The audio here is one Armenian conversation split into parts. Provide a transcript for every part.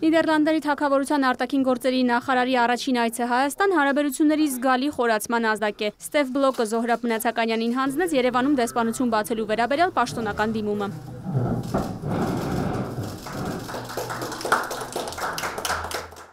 Նիդերլանդների թագավորության արտաքին գործերի նախարարի առաջին այցը Հայաստան հարաբերությունների զգալի խորացման ազդակ է։ Ստեֆ Բլոկը Զոհրաբ Մնացականյանին հանձնեց Երևանում դեսպանություն բացելու վերաբերյալ պաշտոնական դիմումը։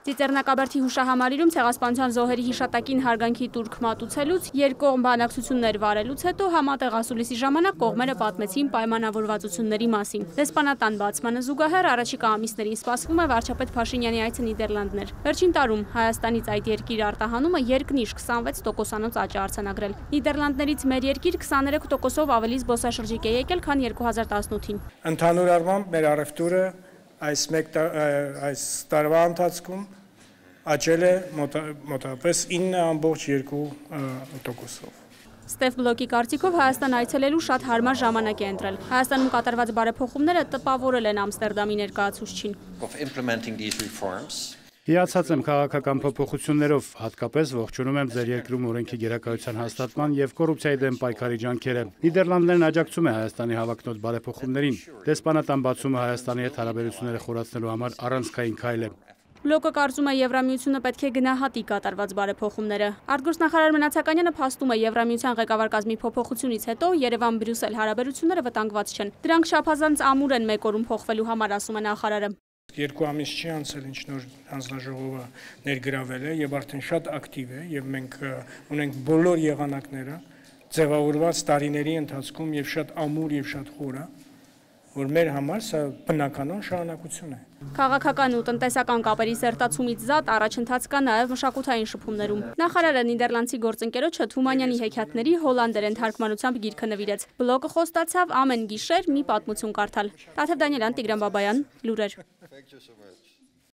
Ծիծեռնակաբերդի հուշահամալիրում ցեղասպանության զոհերի հիշատակին հարգանքի տուրք մատուցելուց, երկկողմ բանակցություններ վարելուց հետո համատեղ ասուլիսի ժամանակ կողմերը պատմեցին պայմանավորվածությունների մասին։ Դեսպանատան բացմանը զուգահեռ առաջիկա ամիսներին սպասվում է վարչապետ Փաշինյանի այցը Նիդերլանդներ։ Վերջին տարում Հայաստանից այդ երկիր արտահանումը երկնիշ 26%-անոց աճ է արձանագրել։ Նիդերլանդներից մեր երկիր 23%-ով ավելի զբոսաշրջիկ է եկել, քան 2018-ին։ Ընդհանուր առմամբ մեր առևտուրը այս տարվա ընթացքում աճել է մոտավորապես 9.2%-ով։ Ստեֆ Բլոկի կարծիքով Հայաստան այցելելու շատ հարմար ժամանակ է ընտրել։ Հայաստանում կատարված բարեփոխումները տպավորել են Ամստերդամի ներկայացուցչին։ Հիացած եմ քաղաքական փոփոխություններով, հատկապես ողջունում եմ ձեր երկրում օրենքի գերակայության հաստատման եւ կոռուպցիայի դեմ պայքարի ջանքերը։ Նիդերլանդներն աջակցում է Հայաստանի հավակնոտ բարեփոխումներին։ Դեսպանատան բացումը Հայաստանի հետ հարաբերությունները խորացնելու համար առանցքային քայլ է։ Բլոկը կարծում է Եվրամիությունը պետք է գնահատի կատարված բարեփոխումները։ Արտգործնախարար Մնացականյանը փաստում է Եվրամիության ղեկավար կազմի փոփոխությունից հետո Երևան-Բրյուսել հարաբերությունները վտանգված չեն։ Դրանք չափազանց ամուր են մեկ օրում փոխվելու համար, ասում է նախարարը։ 2 ամիս չի անցել, ինչ նոր հանձնաժողովը ներգրավել է եւ արդեն շատ ակտիվ է եւ մենք ունենք բոլոր եղանակները ձևավորված տարիների ընթացքում եւ շատ ամուր եւ շատ խորը, որ մեր համար սա բնականon շարունակություն է։ Քաղաքական ու տնտեսական կապերի սերտացումից զատ առաջընթաց կա նաև մշակութային շփումներում։ Նախարարը նիդերլանդցի գործընկերոջը Թումանյանի հեքիաթների հոլանդերեն թարգմանությամբ գիրքը նվիրեց։ Բլոկը խոստացավ ամեն գիշեր մի պատմություն կարդալ։ Տաթև Դանիելյան, Տիգրան Բաբայան, լուրեր։